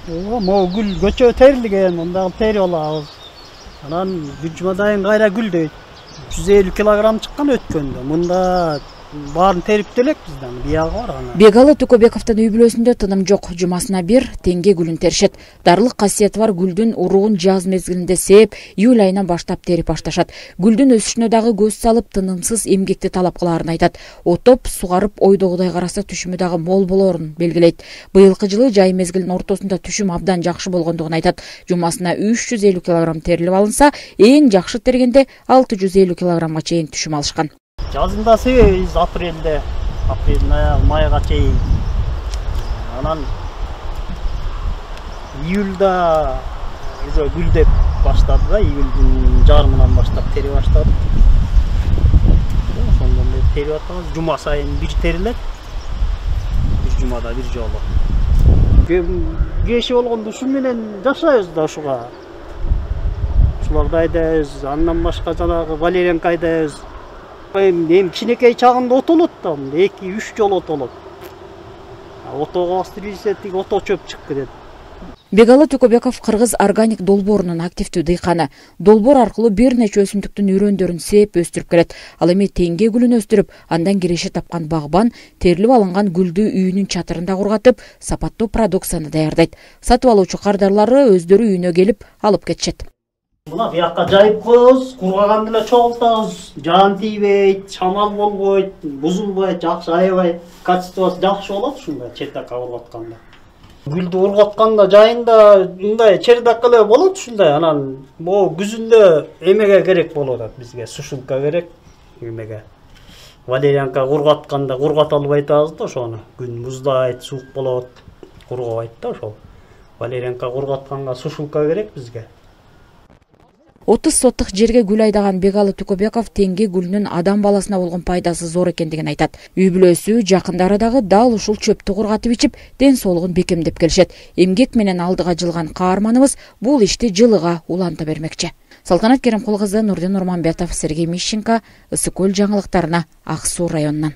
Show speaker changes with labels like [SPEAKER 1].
[SPEAKER 1] Могу гүл көчө терилген, мында терип алабыз. Анан бир жумадан кийин кайра гүлдөйт. 150 килограмм чыккан өткөндө. Мында баарын терип делек бизден, биягы бар ана.
[SPEAKER 2] Бегалы Тукобековдун үй бүлөсүндө тыным жок. Жумасына бир теңге гүлүн теришет. Дарлык касиети бар гүлдүн уругун жаз мезгилинде сээп, июль айынан баштап терип башташат. Гүлдүн өсүшүнө дагы көз салып, тынымсыз эмгекти талап кылаарын айтат. Отоп, сугарып, ойдогудай караса түшүмү дагы мол болоорун белгилейт. Быйылкы жылы жай мезгилинин ортосунда түшүм абдан жакшы болгондугун айтат. Жумасына 350 килограмм терилип алынса, эң жакшы тергенде 650 килограммга чейин түшүм алышкан.
[SPEAKER 1] Жазында себебиз апрелде, майга чейин. Анан июлда уже гүлдөп баштады да, июлдун жарымынан баштап терип баштады. Ошондон бери терип атабыз. Жума сайын бир терилет. Бир жумада бир жолу. Кеши болгондо ушу менен жашайбыз да ушуга. Ушуларды айдайбыз, андан башка жанагы валерьянка айдайбыз. Эми кичинекей чагында отолот да, 2-3 жолу отолот. Отого бастырып тиги ото чөп чыгып кетет.
[SPEAKER 2] Бегалы Тукобеков кыргыз органик долбоорунун активдүү дыйканы. Долбоор аркылуу бир нече өсүмдүктүн үрөндөрүн сээп өстүрүп келет. Ал эми теңге гүлүн өстүрүп, андан киреше тапкан багбан терилип алынган гүлдү үйүнүн чатырында кургатып, сапаттуу продукцияны даярдайт. Сатып алуучу кардарлары өздөрү үйүнө келип алып кетишет.
[SPEAKER 1] Мына бияка жайып коебуз, кургаган эле чогултабыз. Жаан тийбейт, шамал болбойт, бузулбайт, жакшы аябай качествосу жакшы болот ушундай чердакка кургатканда. Гүлдү ургатканда жайында мындай чердак эле болот ушундай. Анан могу күзүндө эмеге керек болуп атат бизге, сушилка керек эмеге. Валерьянка ургатканда ургата албай атабыз да ошону. Күн муздайт, суук болот, кургабайт да ошол. Валерьянка ургатканга сушилка керек бизге.
[SPEAKER 2] 30 соттук жерге гүл айдаган Бегалы Тукобеков теңге гүлүнүн адам баласына болгон пайдасы зор экендигин айтат. Үй бүлөсү, жакындары дагы дал ушул чөптү кургатып ичип, ден соолугун бекемдеп келишет. Эмгек менен алдыга жылган каарманыбыз бул ишти жылыга уланта бермекчи. Салтанат Керимкул кызы, Нурдин Нурманбетов, Сергей Мищенко, Ысык Көл жаңылыктарына, Ак Суу районунан.